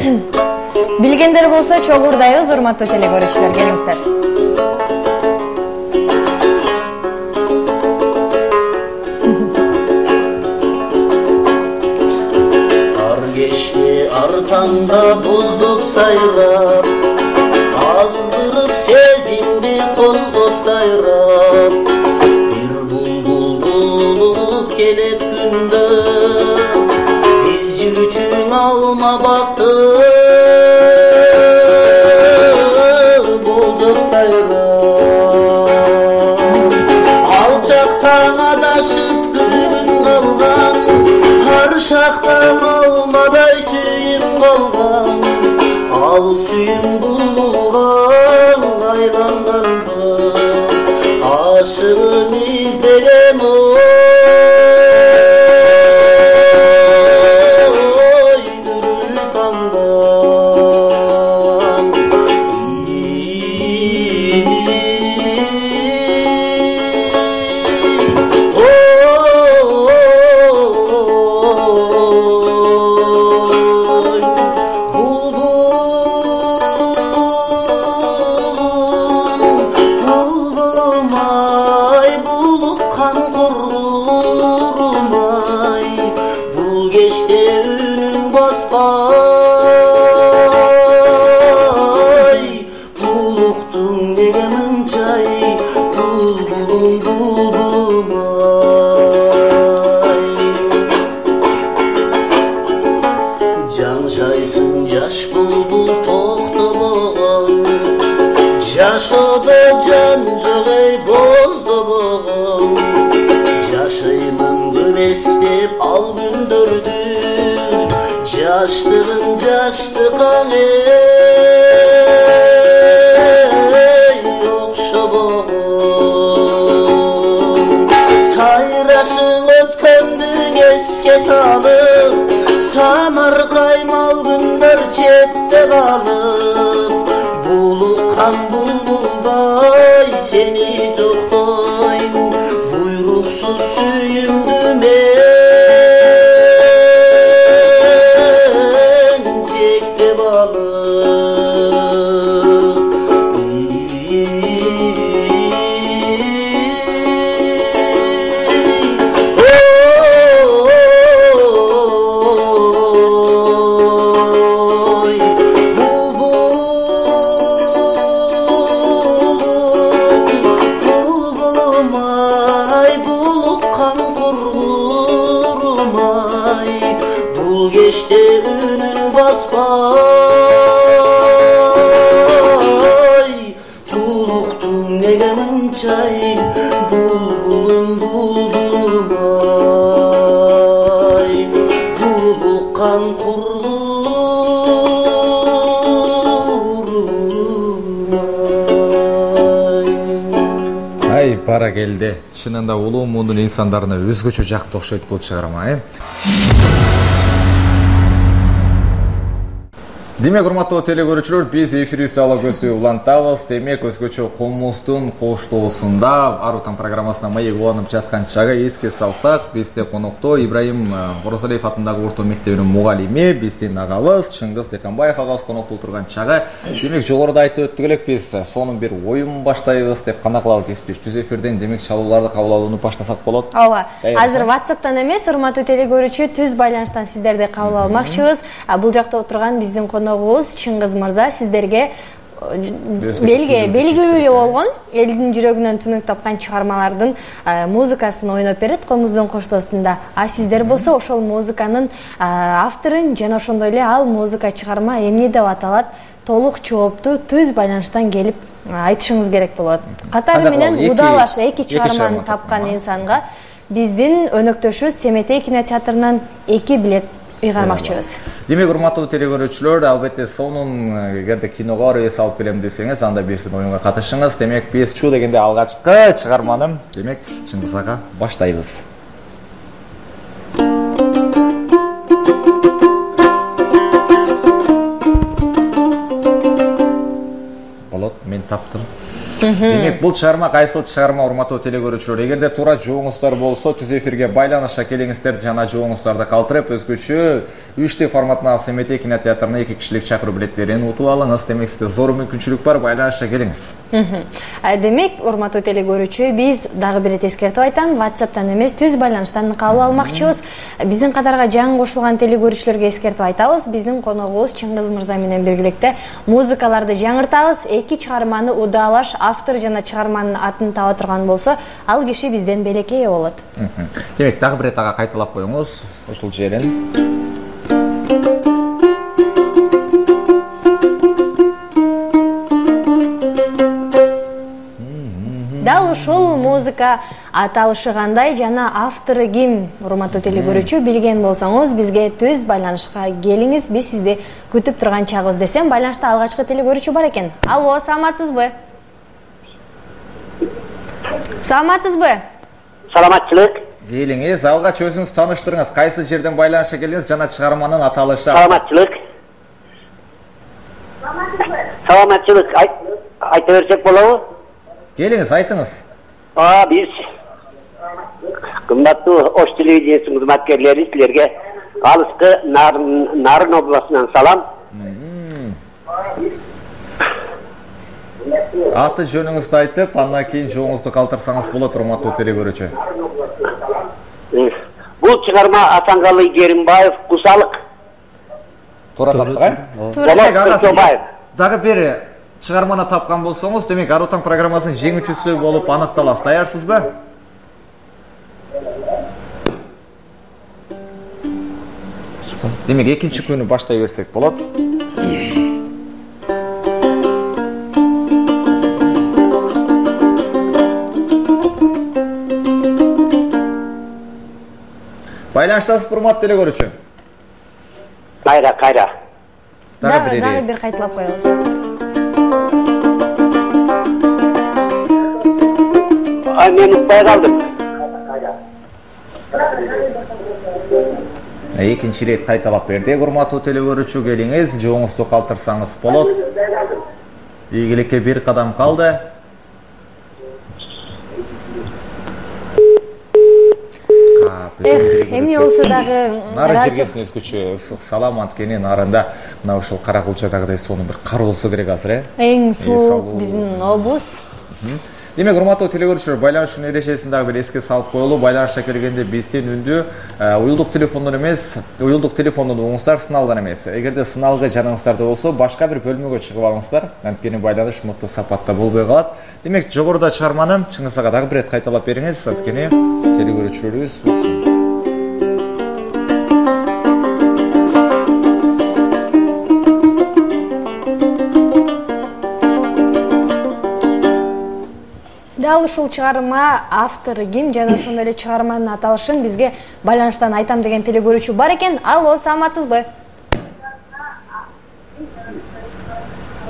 Билгендер болсо чогурдайбыз, урматтуу телекөрүүчүлөр, келиңиздер. Ар кечти артаңда боздоп сайрап, аздырып сезимди козгоп сайрап, бир булбул болуп келет күндө, биз жүрчүң алма бакты болжоп сайрап. Алчактан адашып күн калган, ар шактан алмадай сүйүм калган, ал сүйүм булбулга айланганда, ашыгын издеген гүрүл тамдан. Булбулум-ай, булуккан кургурум-ай, бул кечте үнүң баспай, булуктуң неге мынчай, булбулум, булбулум-ай. Жаңшайсың жаш булбул токтобогон, жашоодо жан жок эй боздобогон, жашаймын көп эстеп ал күндөрдү, жаштыгым жаштыкаң эй окшобогон. Сайрашың өткөндүң эске салып, самаркаймал күндөр четте калып, булуккан булбулдай сени жоктойм, буйруксуз сүйүмдү мен чектеп алып. Ой, булбулум-ай, булуккан кургурум-ай, бул кечте үнүң баспай, булуктуң неге мынчай, булбулум, булбулум-ай, булуккан кургурум-ай. Ай, бара келди. Чынында улуу мундун инсандарына өзгөчө жакты окшойт бул чыгарма, Демек, урматтуу телекөрүүчүлөр, биз эфирибизди ала көздөй улантабыз. Демек, өзгөчө комуздун коштоосунда Арутан программасына маек уланып жаткан чагы эске салсак, бизде конокто Ибраим Оразалиев атындагы орто мектебинин мугалими, биздин агабыз Чыңгыз Деканбаев агабыз конокто отурган чагы. Демек, жогоруда айтып өттүк элек, биз сонун бир оюн баштайбыз деп кандай кылабыз кеспеш түз эфирден. Демек, чалууларды кабыл алууну баштасак болот. Ооба. Азыр WhatsApp'тан эмес, урматтуу телекөрүүчү, түз байланыштан сиздерди кабыл алмакчыбыз. Бул жакта отурган биздин коногубуз Чыңгыз мырза сиздерге белгилүү болгон, элдин жүрөгүнөн түнүк тапкан чыгармалардын музыкасын ойноп берет комуздун коштоосунда. А сиздер болсо ошол музыканын авторун жана ошондой эле ал музыка чыгарма эмне деп аталат, толук жоопту түз байланыштан келип айтышыңыз керек болот. Катары менен удалаш эки чыгарманы тапкан инсанга биздин өнөктөшүбүз Семетей кинотеатрынан 2 билет ыйгармакчыбыз. Демек, урматтуу телекөрүүчүлөр, албетте сонун эгерде киного барып эс алып келем десеңиз, анда биздин оюнга катышыңыз. Демек, биз чуу дегенде алгачкы чыгарманы, демек, Чыңгыз ага баштайбыз. Болот, мен таптым. Демек, бул чыгарма кайсыл чыгарма, урматтуу телекөрүүчүлөр? Эгерде туура жооңуздар болсо, түз эфирге байланышка келиңиздер жана жооңуздарды калтырып, өзгөчө 3D форматындагы Семетей кинотеатрына 2 кишилик чакыруу билеттерин утуп алыңыз. Демек, сизде зор мүмкүнчүлүк бар, байланышка келиңиз. Демек, урматтуу телекөрүүчү, биз дагы бир эскертип айтам, WhatsApp'тан эмес, түз байланыштан кабыл алмакчыбыз. Биздин катарга жаңы кошулган телекөрүүчүлөргө эскертип айтабыз, биздин коногубуз Чыңгыз мырза менен биргеликте музыкаларды жаңыртабыз. 2 чыгарманы удаалаш, автор жана чыгарманын атын таба турган болсо, ал киши бизден белекей болот. Демек, дагы бир ага кайталап коюңуз, ушул жерин. Дал ушул музыка аталышы кандай жана автору ким? Урматтуу телекөрүүчү, билген болсоңуз, бизге түз байланышка келиңиз, биз сизди күтүп турган чагыбыз десем, байланышта алгачкы телекөрүүчү бар экен. Алло, саламатсызбы? Саламатсызбы? Саламатчылык. Келиңиз, алгач өзүңүз тааныштырыңыз, кайсы жерден байланышка келиңиз жана чыгарманын аталышы. Саламатчылык. Саламатчылык. Айта берсек болобу? Келиңиз, айтыңыз. Биз кымбаттуу Ош телевидениесинин кызматкерлери, силерге алыскы Нарын областынан салам. Аты жөнүңүздү айтып, андан кийин жооңузду калтырсаңыз болот, урматтуу телекөрүүчү. Бул чыгарма Асанкалы Керимбаев Кусалык. Туура таптык, Туура. Дагы бир чыгарманы тапкан болсоңуз, демек Ар Отан программасынын жеңүүчүсү болуп аныкталасыз. Даярсызбы? Демек, экинчи күнү баштай берсек болот. Байланыштасыз, урматтуу телекөрүүчү. Кайра. Дагы бир кайталап коебуз. Мен укпай калдым. Экинчи рет кайталап бердик, урматтуу телекөрүүчү, келиңиз, жооңузду калтырсаңыз болот. Ийгиликке бир кадам калды. Эмне болсо дагы нары жергесин өзгөчө салам, анткени нарында мына ушул Каракулчадагыдай сонун бир кар болсо керек азыр, Эң суук биздин облус. Демек, урматтуу телекөрүүчүлөр, байланышчынын эрежесин дагы бир эске салып коелу. Байланышка келгенде биздин үндү уюлдук телефондон эмес, уюлдук телефондон угуңуздар, сыналган эмес. Эгерде сыналгы жаныңыздарда болсо, башка бир бөлмөгө чыгып алыңыздар. Анткени байланыш мыкты сапатта болбой калат. Демек, жогоруда чыгарманы Чыңгыз ага дагы бир рет кайталап бериңиз, анткени телекөрүүчүлөрүбүз уксун. Дал ушул чыгарма автору ким жана ошондой эле чыгарманын аталышын бизге байланыштан айтам деген телекөрүүчү бар экен. Алло, саламатсызбы?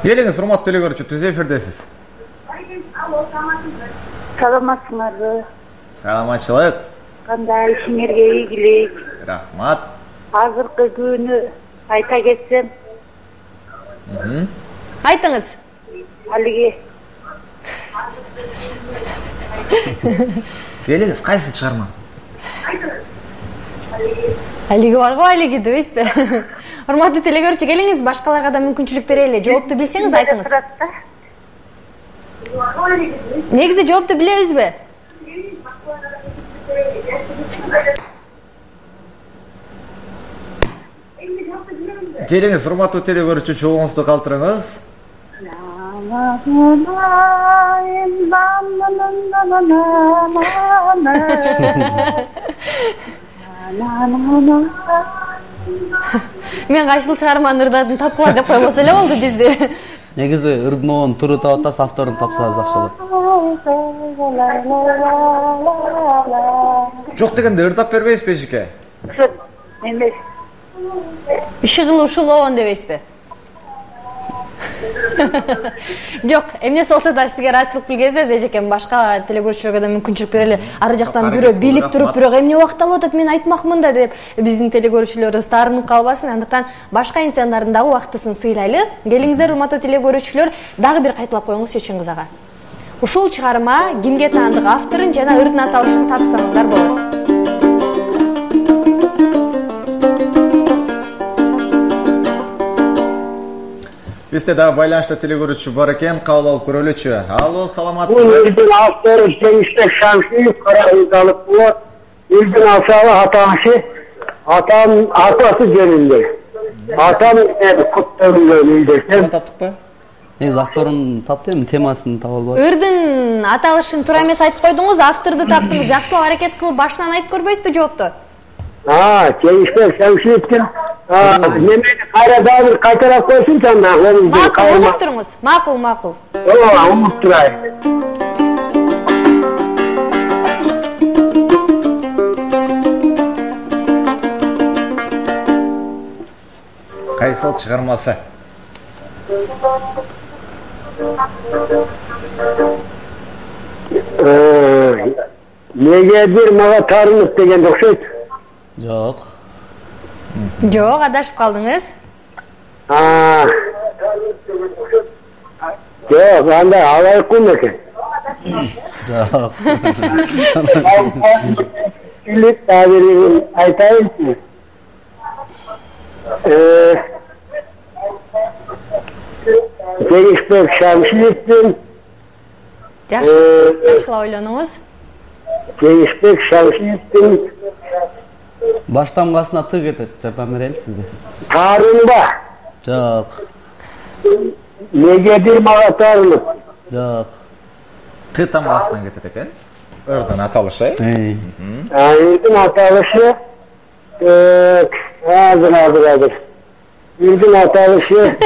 Келиңиз, урматтуу телекөрүүчү, түз эфирдесиз. Саламатсыңарбы? Саламатчылык. Кандай ишиңерге ийгилик? Рахмат. Азыркы күнү айта кетсем. Айтыңыз. Алиги. Келиңиз, кайсы чыгарма? Алиги бар го, алиги дебейсизби? Урматтуу телекөрүүчү, келиңиз, башкаларга да мүмкүнчүлүк берели. Жоопту билсеңиз айтыңыз. Негизи жоопту билебизби? Келиңиз, урматтуу телекөрүүчү, жооңузду калтырыңыз. Мен кайсыл чыгарманын ырдадын тапкыла деп койбосо эле болду бизди. Негизи ырдмоонун туру таап атасыз, авторун тапсаңыз жакшы болот. Жок дегенде ырдап бербейсизби эжеке? Эмес. Ишыгылы ушулоон дебейсизби? Жок, эмнеси болсо да сизге ыраазычылык билгенсиз, эжекем, башка телекөрүүчүлөргө да мүмкүнчүлүк берели. Ары жактан бирөө билип туруп, бирок эмне убакыт алып атат, мен айтмакмын да деп биздин телекөрүүчүлөрүбүз таарынып калбасын. Андыктан башка инсандардын дагы убактысын сыйлайлы. Келиңиздер, урматтуу телекөрүүчүлөр, дагы бир кайталап коюңузчу Чыңгыз ага. Ушул чыгарма кимге таандык авторун жана ырдын аталышын тапсаңыздар болот. Бизде дагы байланышта телегөрүүчү бар экен, кабыл алып көрөлүчү. Алло, саламатсызбы? Ürün avtları Cengiz Şamsiyev Karahıydalık bu. Ürün aşağı atası jönünde. Atam kutlarında öldürsem. Таптыкпы? Негизи авторун таптым, темасын таба албадым. Ырдын аталышын туура эмес айтып койдуңуз, авторду таптыңыз. Жакшылап аракет кылып башынан айтып көрбөйсүзбү жоопту? Cengiz Şamsiyev'in nemeni Karadağ'ı kaytarak koysun canına. Макул, угуп туруңуз. Макул. Umup durayım. Кайсыл чыгармасы? Negedir mağa tarınıp degen okşayt. Жок. Жок, адашып калдыңыз. Yok, anda alayık kum eкен. Жок. Bilip tabirini aytayım ki. Cengiz Şamsiyev'in Жакшылап ойлонуңуз. Cengiz Şamsiyev'in Баш тамгасына ты кетет, жардам берели сизге. tarınba Жок. negedir mağa tarınıp. Жок. Ты тамгасынан кетет экен. Ырдын аталышы. Ürün atalışı hazır. Ürün atalışı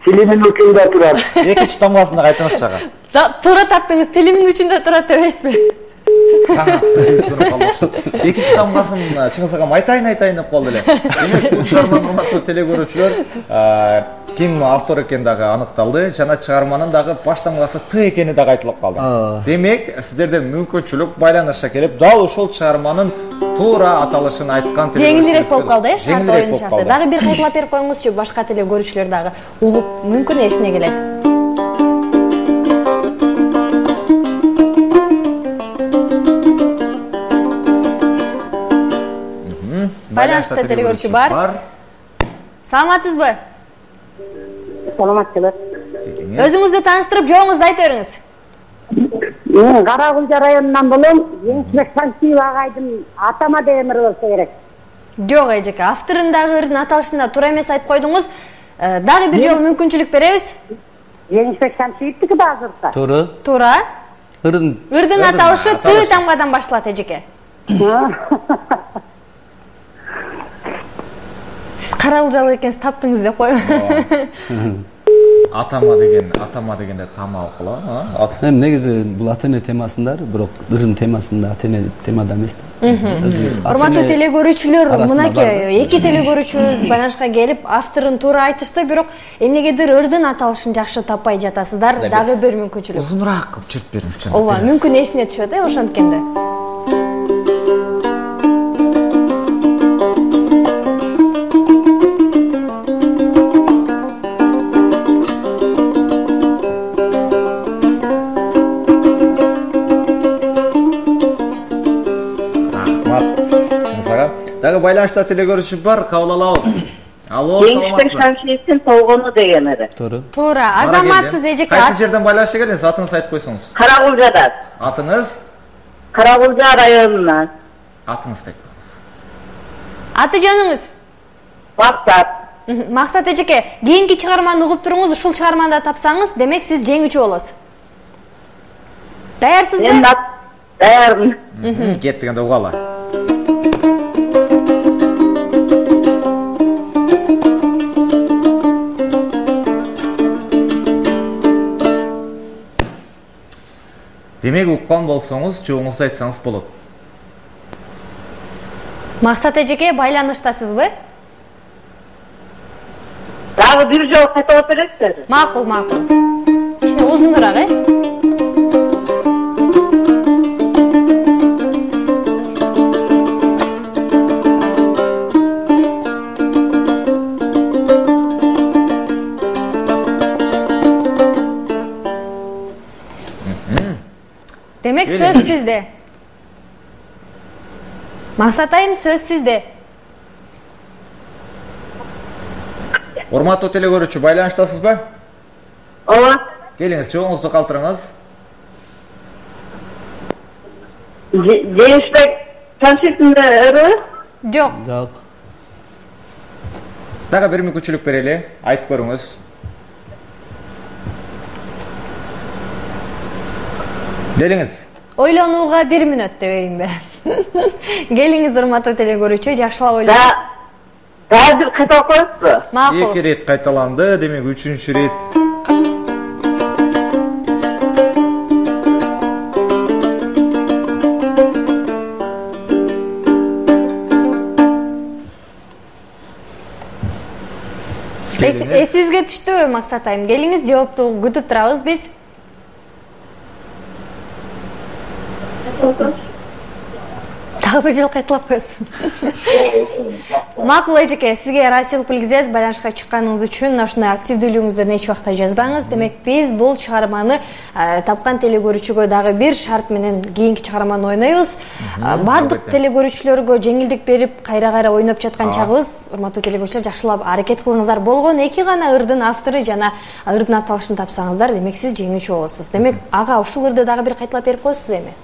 filmin ucunda durar. Экинчи тамгасында кайтыңыз чага. Туура таптыңыз, тилимин учунда турат эмеспи? Экинчи тамгасын Чыңгыз агам айтайын деп калды эле. Демек, бул чыгарманын урматтуу телегөрүүчүлөр, ким автор экени дагы аныкталды, жана чыгарманын дагы баш тамгасы Т экени дагы айтылып калды. Демек, сиздерден мүмкүнчүлүк байланышка келип, дал ушул чыгарманын туура аталышын айткан жеңилирээк болуп калды, шарт оюн шарты. Дагы бир кайталап берип коюңузчу, башка телегөрүүчүлөр дагы угуп мүмкүн эсине келет. Байланышта телегөрүүчү бар. Саламатсызбы? Саламатсызбы. Өзүңүздү тааныштырып, жооңузду айта бериңиз. Мен Карагулжа районунан болом. Еңсебек Шамсиев агайдын атама деген ыры болсо керек. Жок, эжеке, авторундагы ырдын аталышында туура эмес айтып койдуңуз. Дагы бир жолу мүмкүнчүлүк беребиз. Еңсебек Шамсиевдики да азыркы. Туура. Ырдын аталышы Т тамгадан башталат, эжеке. Сиз Карагулжалык экенсиз, таптыңыз деп коем. Атама дегенде тама окула. Негизи бул ата-эне темасында, бирок ырдын темасында ата-эне темада эмес да. Урматтуу телегөрүүчүлөр, мынакей эки телегөрүүчүбүз байланышка келип, авторун туура айтышты, бирок эмнегедир ырдын аталышын жакшы таппай жатасыздар. Дагы бир мүмкүнчүлүк. Узунураак кылып чырт бериңизчи. Ооба, мүмкүн эсине түшөт, ошонткенде. Дагы байланышта телегөрүүчү бар, кабыл алабыз. Алло, Еңсебек Шамсиевдин толгону деген ыры. Туура, азаматсыз эжеке. Кайсы жерден байланышка келдиңиз? Атыңызды айтып койсоңуз. Карагулжадан. Атыңыз? Карагулжа районунан. Атыңызды айтып коюңуз. Аты жөнүңүз? Максат. Максат эжеке, кийинки чыгарманы угуп туруңуз, ушул чыгарманда тапсаңыз, демек сиз жеңүүчү болосуз. Даярсызбы? Мен даярмын. Кет дегенде угалы. Демек, уккан болсоңуз, жооңузду айтсаңыз болот. Максат эжеке, байланыштасызбы? Дагы бир жолу кайталап бересиз? Макул. Кичине узунураак, демек сөз сизде. Максат айым, сөз сизде. Урматтуу теле көрүүчү, байланыштасызбы? Ооба. Келиңиз, жоңуңузду калтырыңыз. Жеңишбек Шамшитовна Жок. Жок. Дагы бир мүмкүнчүлүк берели, айтып көрүңүз. Келиңиз. Ойлонууга 1 мүнөт дебейинби? Келиңиз, урматтуу теле көрүүчү, жакшылап ойлонуңуз. Дагы кайталап коесузбу? Макул. 2 рет кайталанды, демек 3-чү рет. Эсибизге түштүбү, Максат айым? Келиңиз, жоопту күтүп турабыз биз. Дагы бир жолу кайталап коесуң. Макул эжеке, сизге ыраазычылык билгизебиз байланышка чыкканыңыз үчүн. Ушундай активдүүлүгүңүздөн эч убакта жазбаңыз. Демек, биз бул чыгарманы тапкан теле көрүүчүгө дагы бир шарт менен кийинки чыгарманы ойнойбуз. Бардык теле көрүүчүлөргө жеңилдик берип, кайра-кайра ойноп жаткан чагыбыз. Урматтуу теле көрүүчүлөр, жакшылап аракет кылыңыздар. Болгон 2 гана ырдын автору жана ырдын аталышын тапсаңыздар, демек сиз жеңүүчү болосуз. Демек, ага ушул ырды дагы бир кайталап берип коесуз эми.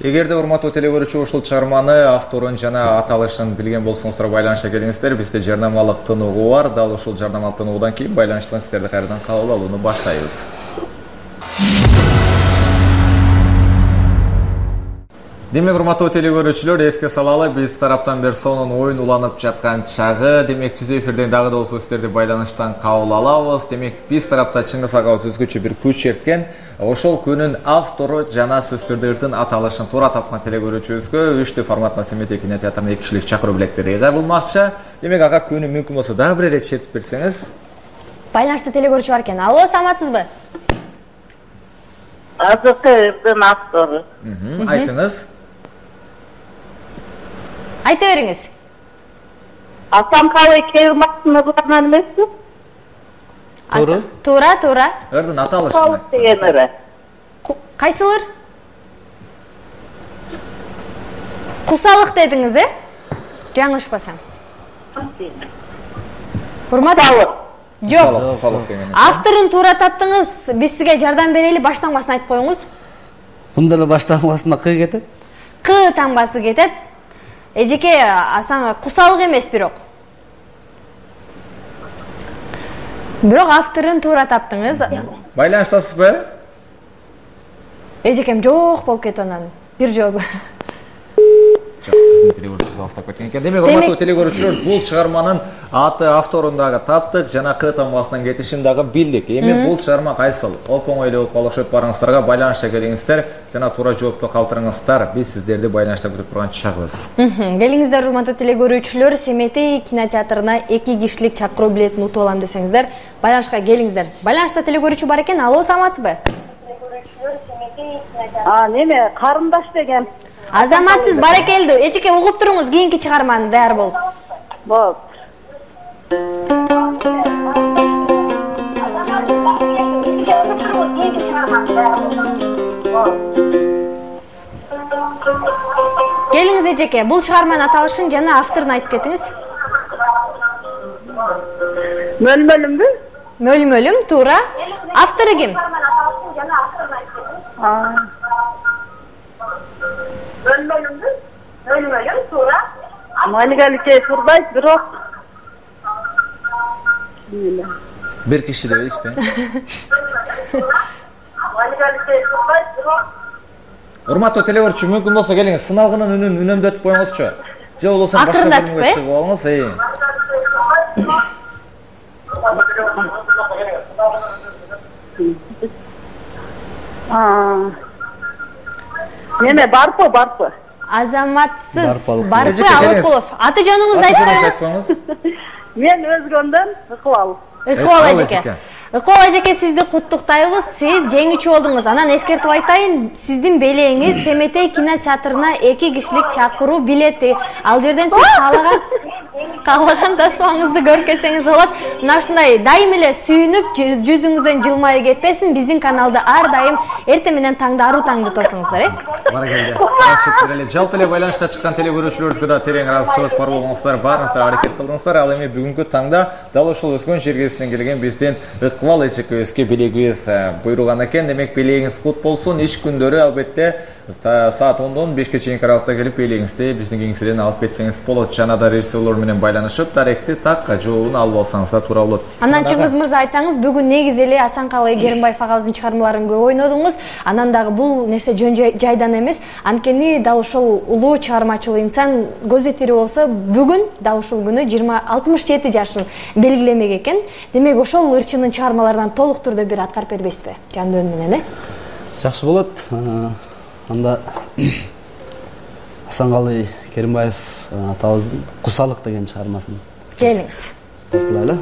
Эгерде урматтуу теле көрүүчү ушул чыгарманы авторун жана аталышын билген болсоңуздар, байланышка келиңиздер. Бизде жарнамалык тынугу бар. Дал ушул жарнамалык тынугудан кийин байланыштан сиздерди кайрадан кабыл алууну баштайбыз. Демек, урматтуу теле көрүүчүлөр, эске салалы, биз тараптан бир сонун оюн уланып жаткан чагы. Демек, түз эфирден дагы да болсо сиздерди байланыштан кабыл алабыз. Демек, биз тарапта Чыңгыз агабыз өзгөчө бир күч черткен. Ошол күнүн автору жана сөздөрдүн аталышын туура тапкан теле көрүүчүбүзгө 3D форматна Семетей кинотеатрынын 2 кишилик чакыруу билеттери жабылмакчы. Демек, ага күнү мүмкүн болсо дагы бир эле чертип берсеңиз. Байланышта теле көрүүчү бар экен. Алло, саламатсызбы? Азыркы автору. Айтыңыз. Айта бериңиз. Асанкалы Кемаловдун ырдынан эмеспи? Туура. Ырдын аталышы. Калып деген ыры. Кайсылыр? Кусалык дедиңиз, Жаңылышпасам. Урматтуу. Жок. Салык. Авторун туура таптыңыз. Биз сизге жардам берели, баштангысын айтып коюңуз. Мында эле баштангысына К кетет. К таңбасы кетет. Эжеке, асан кусалык эмес бирок. Бирок авторун туура таптыңыз. Байланыштасызбы? Эжекем жок болуп кетти анан. Бир жолу. Жок, биздин теле көрүүчүбүз алыстап кеткен экен. Демек, урматтуу теле көрүүчүлөр, бул чыгарманын аты, авторун дагы таптык, жана К таңбасынан кетишин дагы билдик. Эми бул чыгарма кайсыл? Оп-оңой эле болуп калышып барыңыздарга байланышка келиңиздер, жана туура жоопту калтырыңыздар. Биз сиздерди байланышта күтүп турган чагыбыз. Келиңиздер, урматтуу теле көрүүчүлөр, Семетей кинотеатрына 2 кишилик чакыруу билетин утуп алам десеңиздер, байланышка келиңиздер. Байланышта теле көрүүчү бар экен. Алло, саламатсызбы? Неме, карындаш деген. Азаматсыз, баракелдүү. Эчеке угуп туруңуз, кийинки чыгарманы даяр болуп. Болуп. Келиңиз эжеке, бул чыгарманын аталышын жана авторун айтып кетиңиз. Мөлмөлүмбү? Мөлмөлүм, туура. Автору ким? Мөлмөлүм, туура. Малигалике турбайт, бирок. Бир киши дебейсизби? Малигалике турбайт, бирок. Урматтуу теле көрүүчү, мүмкүн болсо келиңиз, сыналгынын үнүн үнөмдөтүп коюңузчу. Же болбосо башка бир мүмкүн чыгып алыңыз. Неме, барпы. Азаматсыз, барпы Алыкулов. Аты жөнүңүздү айтып коюңуз. Мен Өзгөндөн Ыкыбал. Ыкыбал эжеке. Ыкбал ажеке, сизди куттуктайбыз. Сиз жеңүүчү болдуңуз. Анан эскертип айтайын, сиздин белеңиз Семетей кинотеатрына 2 кишилик чакыруу билети. Ал жерден сиз каалаган тасмаңызды көркөсөңүз болот. Мына ушундай дайым эле сүйүнүп, жүзүңүздөн жылмайы кетпесин. Биздин каналды ар дайым эртең менен таңда аруу таңды тосуңуздар, Баракелде. Рахмет эле. Жалпы эле байланышта чыккан телегөрүүчүлөрүбүзгө да терең ыраазычылык бар болгоңуздар, баарыңыздар аракет кылдыңыздар. Ал эми бүгүнкү таңда дал ошол өскөн жергесинен келген биздин Ыкбал эжекебизге белегибиз буйруган экен. Демек белегиңиз кут болсун. Иш күндөрү албетте саат 10-дон 5ке чейинки аралыкта келип белегиңизди биздин кеңседен алып кетсеңиз болот. Жана да режиссерлор менен байланышып, даректи так жообун алып алсаңыз да туура болот. Анан Чыңгыз мырза, айтсаңыз, бүгүн негизи эле Асанкалы Керимбаев агабыздын чыгармаларын көп ойнодуңуз. Анан дагы бул нерсе жөн жайдан эмес. Анткени дал ошол улуу чыгармачыл инсан көзү тирүү болсо, бүгүн дал ушул күнү 67 жашын белгилемек экен. Демек ошол ырчынын чыгармаларынан толук түрдө бир аткарып бербейсизби? Жандөн менен, Жакшы болот. Анда Асанкалы Керимбаев атабыздын Кусалык деген чыгармасын келиңиз. тартылайлы.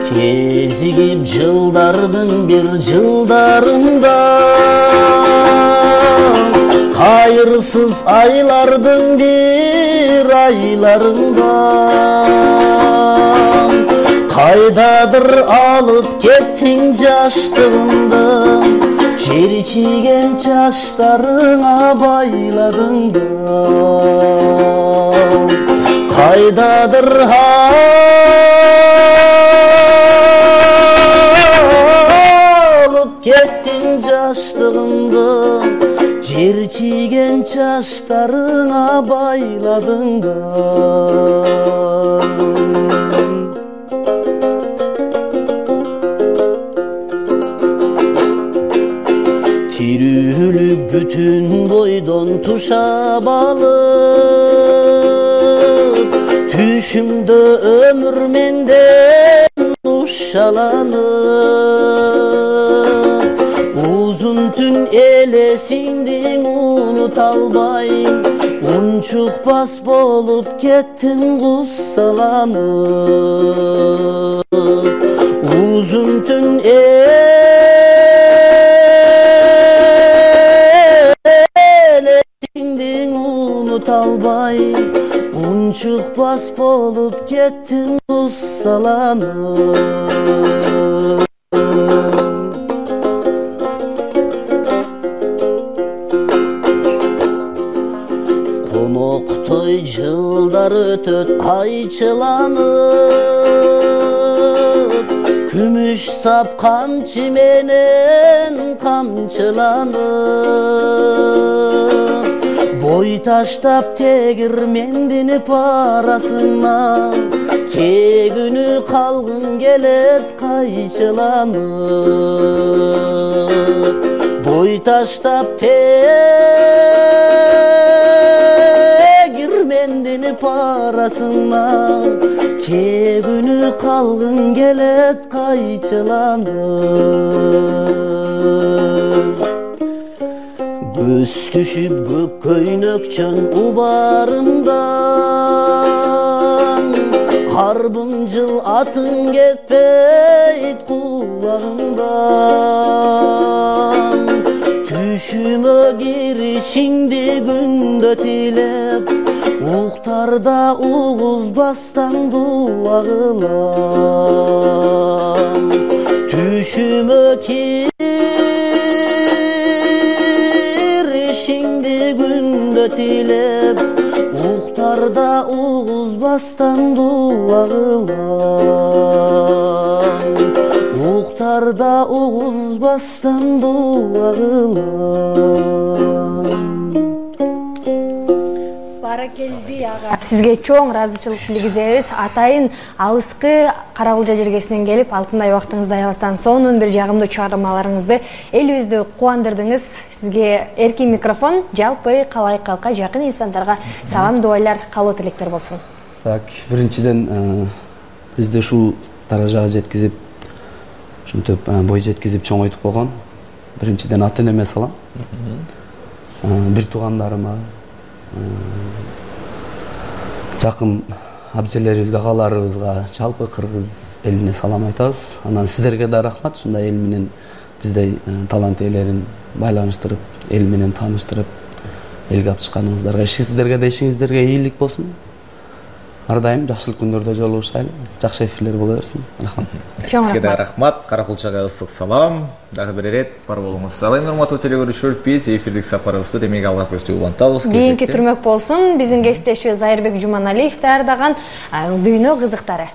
Кезигип жылдардын бир жылдарында, кайырсыз айлардын бир айларында, кайдадыр алып кеттиң жаштыгымды, черчиген чачтарыңа байладың да, кайдадыр алып кеттиң жаштыгымды, черчиген чачтарыңа байладың да. Тирүүлүк бүтүн бойдон тушап алып, түшүмдө өмүр менден ушаланып, узун түн элесиңди унута албайм, унчукпас болуп кеттим куссаланып, узун түн албайм, унчукпас болуп кеттим куссаланып. Коноктой жылдар өтөт айчыланып, күмүш сап камчы менен камчыланып, бой таштап тегирмендинип арасынан, кегүнү калгым келет кайчыланып, бой таштап тегирмендинип арасынан, кегүнү калгым келет кайчыланып. Көз түшүп көк көйнөкчөн убарымдан, арбым жыл атың кетпейт кулагымдан, түшүмө киришиңди күндө тилеп, уктарда угузбастан дуа кылам, түшүмө күндө тилеп, уктарда угузбастан дуа кылам, уктарда угузбастан дуа кылам. Баракелди ага. Сизге чоң ыраазычылык билгизебиз. Атайын алыскы Карагулжа жергесинен келип, алтындай убактыңызды аябастан сонун бир жагымдуу чыгармаларыңызды элибизди кубандырдыңыз. Сизге эркин микрофон, жалпы калай калкка жакын инсандарга салам дуайлар, каалоо тилектер болсун. Так, биринчиден бизди ушул даражага жеткизип, ушинтип бой жеткизип чоңойтуп койгон. Биринчиден ата энеме салам. Бир туугандарыма, жакын абжелерибизге, агаларыбызга, жалпы кыргыз элине салам айтабыз. Анан сиздерге да рахмат, ушундай эл менен биздей талант ээлерин байланыштырып, эл менен тааныштырып, элге алып чыкканыңыздарга, сиздерге да ишиңиздерге ийгилик болсун. Ар дайым жакшылык күндөрдө жолугушайлы. Жакшы эфирлер боло берсин. Рахмат. Сизге да рахмат. Каракулчага ысык салам. Дагы бир ирет бар болуңуз. Салам урматтуу телегөрүүчүлөр, биз эфирдик сапарыбызды демек алга көздөй улантабыз. Кийинки түрмөк болсун. Биздин кесиптешибиз Айырбек Жуманалиев даярдаган дүйнө кызыктары.